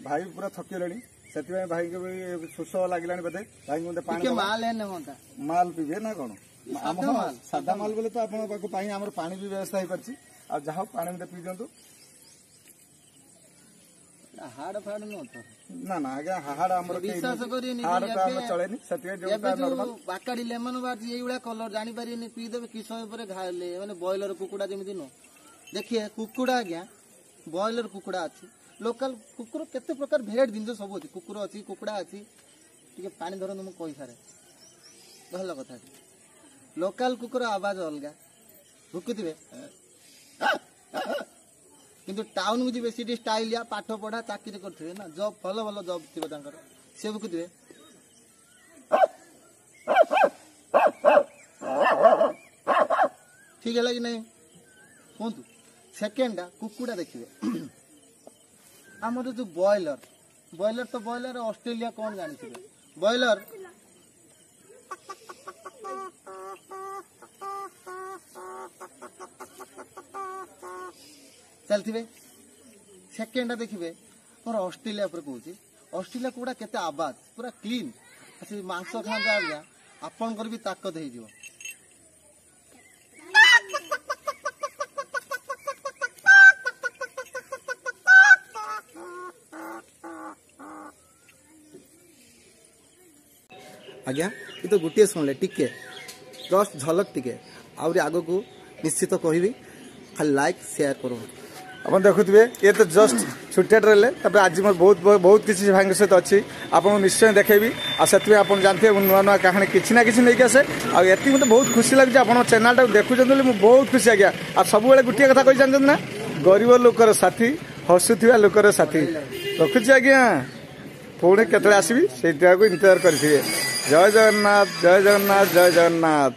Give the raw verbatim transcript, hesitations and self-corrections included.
ଭାଇ ପୁରା ଥକିଗଲେଣି, ସେଥିପାଇଁ ଭାଇଙ୍କୁ ବି ଶୋଷ ଲାଗିଲାଣି ବୋଧେ। ଭାଇଙ୍କୁ ମଧ୍ୟ ପାଣି ଟିକେ ମାଲ ହେଲେ ହୁଅନ୍ତା। ମାଲ ପିଇବେ ନା କଣ? ଆମ ସାଧା ମାଲ ବୋଲେ ତ ଆପଣଙ୍କ ପାଖକୁ ପାଇଁ ଆମର ପାଣି ବି ବ୍ୟବସ୍ଥା ହେଇପାରିଛି। ଆଉ ଯାହା ହଉ, ପାଣି ମଧ୍ୟ ପିଇ ଦିଅନ୍ତୁ। ହାଡ ଫାଡ ନୁହଁ ତ? ନା ନା ଆଜ୍ଞା, ହାଡ ଆମର ବିଶ୍ୱାସ କରିବେନି, ହାଡ ତ ଆମେ ଚଳେନି, ସେଥିପାଇଁ ଯୋଉଟା ନର୍ମାଲ। ବାକାଡି ଲେମନ ବାହାରିଛି, ଏଇଭଳିଆ କଲର, ଜାଣିପାରିବେନି, ପିଇଦେବେ କିଛି ସମୟ ପରେ ଘାଇଲେ, ମାନେ ବ୍ରଏଲର କୁକୁଡ଼ା ଯେମିତି ନୁହଁ। ଦେଖିଏ କୁକୁଡ଼ା ଆଜ୍ଞା, ବ୍ରଏଲର କୁକୁଡ଼ା ଅଛି, ଲୋକାଲ କୁକୁର, କେତେ ପ୍ରକାର ଭେରାଇଟି ଜିନିଷ ସବୁ ଅଛି। କୁକୁର ଅଛି, କୁକୁଡ଼ା ଅଛି। ଟିକେ ପାଣି ଧରନ୍ତୁ, ମୁଁ କହିସାରେ। ଭଲ କଥା। ଲୋକାଲ କୁକୁର ଆବାଜ ଅଲଗା, ଭୁକୁଥିବେ। କିନ୍ତୁ ଟାଉନକୁ ଯିବେ, ସେଠି ଷ୍ଟାଇଲିଆ, ପାଠ ପଢା, ଚାକିରି କରିଥିବେ ନା ଜବ୍, ଭଲ ଭଲ ଜବ୍ ଥିବ ତାଙ୍କର, ସେ ଭୁକୁଥିବେ। ଠିକ ହେଲା କି ନାହିଁ କୁହନ୍ତୁ? ସେକେଣ୍ଡଟା କୁକୁଡ଼ା ଦେଖିବେ, ଆମର ଯୋଉ ବ୍ରଏଲର, ବ୍ରଏଲର ତ ବ୍ରଏଲର, ଅଷ୍ଟ୍ରେଲିଆ କଣ ଜାଣିଥିବେ, ବ୍ରଏଲର ଚାଲିଥିବେ। ସେକେଣ୍ଡଟା ଦେଖିବେ ମୋର ଅଷ୍ଟ୍ରେଲିଆ ଉପରେ କହୁଛି। ଅଷ୍ଟ୍ରେଲିଆ କୁକୁଡ଼ା କେତେ ଆବାଜ, ପୁରା କ୍ଲିନ୍। ସେ ମାଂସ ଖାଆନ୍ତି ଆଜ୍ଞା, ଆପଣଙ୍କର ବି ତାକତ ହେଇଯିବ। ଆଜ୍ଞା, ଏ ତ ଗୋଟିଏ ଶୁଣିଲେ, ଟିକେ ଜଷ୍ଟ ଝଲକ ଟିକେ, ଆହୁରି ଆଗକୁ ନିଶ୍ଚିତ କହିବି। ଖାଲି ଲାଇକ୍ ସେୟାର କରନ୍ତୁ। ଆପଣ ଦେଖୁଥିବେ, ଇଏ ତ ଜଷ୍ଟ ଛୋଟିଆ ରହିଲେ। ତାପରେ ଆଜି ମୋର ବହୁତ ବହୁତ କିଛି ଭାଇଙ୍କ ସହିତ ଅଛି, ଆପଣଙ୍କୁ ନିଶ୍ଚୟ ଦେଖେଇବି। ଆଉ ସେଥିପାଇଁ ଆପଣ ଜାଣିଥିବେ, ମୁଁ ନୂଆ ନୂଆ କାହାଣୀ କିଛି ନା କିଛି ନେଇକି ଆସେ। ଆଉ ଏତିକି ମୋତେ ବହୁତ ଖୁସି ଲାଗୁଛି, ଆପଣ ଚ୍ୟାନେଲଟାକୁ ଦେଖୁଛନ୍ତି ବୋଲି ମୁଁ ବହୁତ ଖୁସି ଆଜ୍ଞା। ଆଉ ସବୁବେଳେ ଗୋଟିଏ କଥା କହି ଜାଣିଛନ୍ତି ନା, ଗରିବ ଲୋକର ସାଥୀ, ହସୁଥିବା ଲୋକର ସାଥୀ। ରଖୁଛି ଆଜ୍ଞା, ପୁଣି କେତେବେଳେ ଆସିବି ସେଇଟାକୁ ଇନ୍ତଜାର କରିଥିବେ। ଜୟ ଜଗନ୍ନାଥ, ଜୟ ଜଗନ୍ନାଥ, ଜୟ ଜଗନ୍ନାଥ।